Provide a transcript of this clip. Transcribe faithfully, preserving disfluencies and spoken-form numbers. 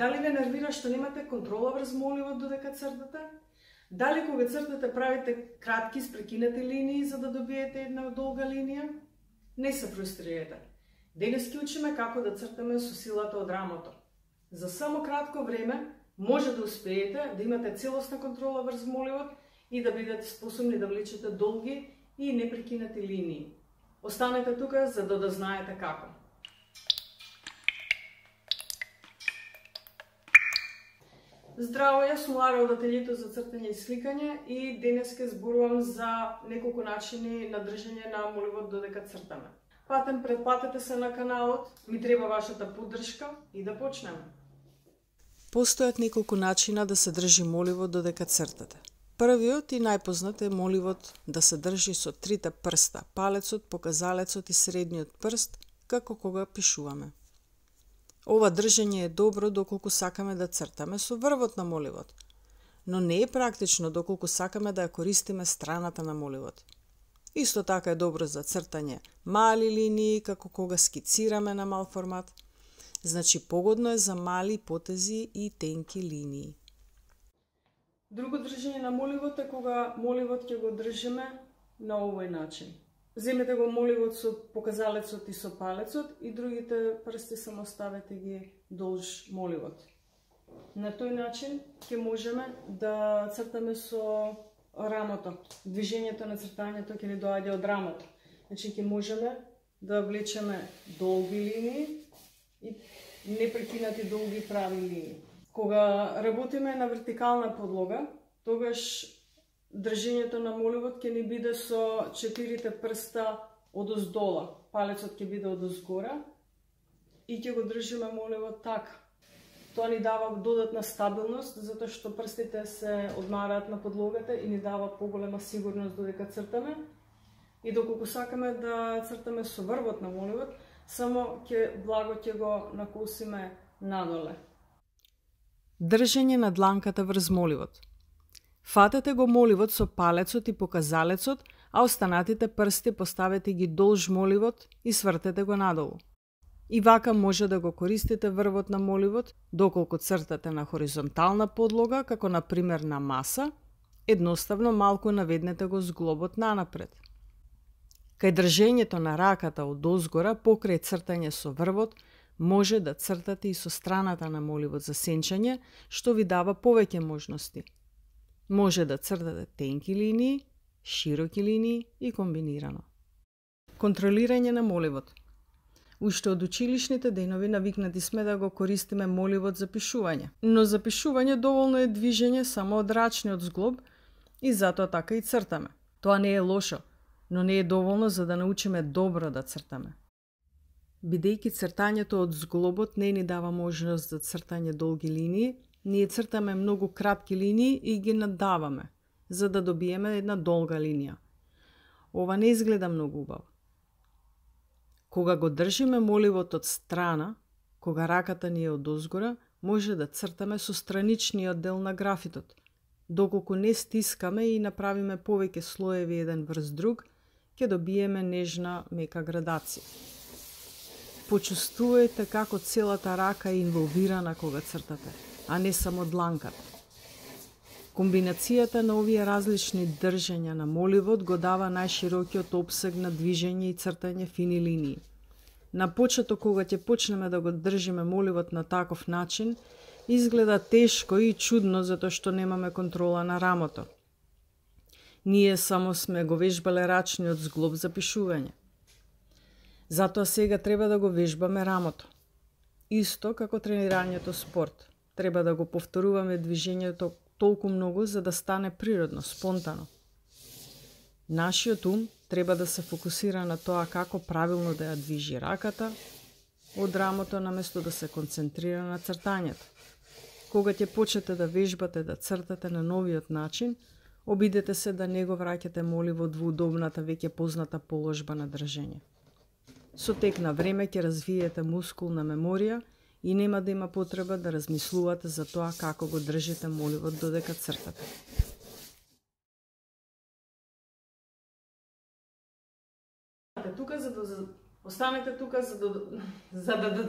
Дали ве нервира што немате контрола врз моливот додека цртате? Дали кога цртате правите кратки спрекинати линии за да добиете една долга линија? Не се фрустрирате. Денес ќе учиме како да цртаме со силата од рамото. За само кратко време може да успеете да имате целосна контрола врз моливот и да бидете способни да влечете долги и непрекинати линии. Останете тука за да да знаете како. Здраво, јас сум Лара од ателието за цртање и сликање и денес ќе зборувам за неколку начини на држење на моливот додека цртаме. Патем, претплатете се на каналот, ми треба вашата поддршка и да почнеме. Постојат неколку начина да се држи моливот додека цртате. Првиот и најпознат е моливот да се држи со трите прста, палецот, показалецот и средниот прст, како кога пишуваме. Ова држење е добро доколку сакаме да цртаме со врвот на моливот, но не е практично доколку сакаме да ја користиме страната на моливот. Исто така е добро за цртање мали линии, како кога скицираме на мал формат, значи погодно е за мали потези и тенки линии. Друго држење на моливот е кога моливот ќе го држиме на овој начин. Земете го моливот со показалецот и со палецот и другите прсти само ставете ги долж моливот. На тој начин ќе можеме да цртаме со рамото. Движењето на цртањето ќе ни доаѓа од рамото. Значи ќе можеме да влечеме долги линии и непрекинати долги прави линии. Кога работиме на вертикална подлога, тогаш држењето на моливот ќе ни биде со четирите прста одоздола. Палецот ќе биде одозгора и ќе го држиме моливот така. Тоа ни дава додатна стабилност, затоа што прстите се одмараат на подлогата и ни дава поголема сигурност додека цртаме. И доколку сакаме да цртаме со врвот на моливот, само ќе благо ќе го накосиме надоле. Држење на дланката врз моливот. Фатете го моливот со палецот и показалецот, а останатите прсти поставете ги долж моливот и свртете го надолу. И вака може да го користите врвот на моливот доколку цртате на хоризонтална подлога, како на пример на маса, едноставно малку наведнете го зглобот нанапред. Кај држењето на раката од озгора покрај цртање со врвот, може да цртате и со страната на моливот за сенчање, што ви дава повеќе можности. Може да цртате тенки линии, широки линии и комбинирано. Контролирање на моливот. Уште од училишните денови навикнати сме да го користиме моливот за пишување, но за пишување доволно е движење само од рачниот зглоб и затоа така и цртаме. Тоа не е лошо, но не е доволно за да научиме добро да цртаме. Бидејќи цртањето од зглобот не ни дава можност за цртање долги линии, ние цртаме многу кратки линии и ги наддаваме, за да добиеме една долга линија. Ова не изгледа многу убаво. Кога го држиме моливот од страна, кога раката ни е од озгора, може да цртаме со страничниот дел на графитот. Доколку не стискаме и направиме повеќе слоеви еден врз друг, ќе добиеме нежна мека градација. Почувствувајте како целата рака е инволвирана кога цртате, а не само дланката. Комбинацијата на овие различни држења на моливот го дава најширокиот опсег на движење и цртање фини линии. На почеток, кога ќе почнеме да го држиме моливот на таков начин, изгледа тешко и чудно затоа што немаме контрола на рамото. Ние само сме го вежбале рачниот зглоб за пишување. Затоа сега треба да го вежбаме рамото. Исто како тренирањето спорт. Треба да го повторуваме движењето толку многу за да стане природно, спонтано. Нашиот ум треба да се фокусира на тоа како правилно да ја движи раката од рамото наместо да се концентрира на цртањето. Кога ќе почнете да вежбате да цртате на новиот начин, обидете се да не го враќате моливот во удобната веќе позната положба на држење. Со тек на време ќе развиете мускулна меморија и нема да има потреба да размислувате за тоа како го држите моливот додека цртате. Тука за да останете тука за да за да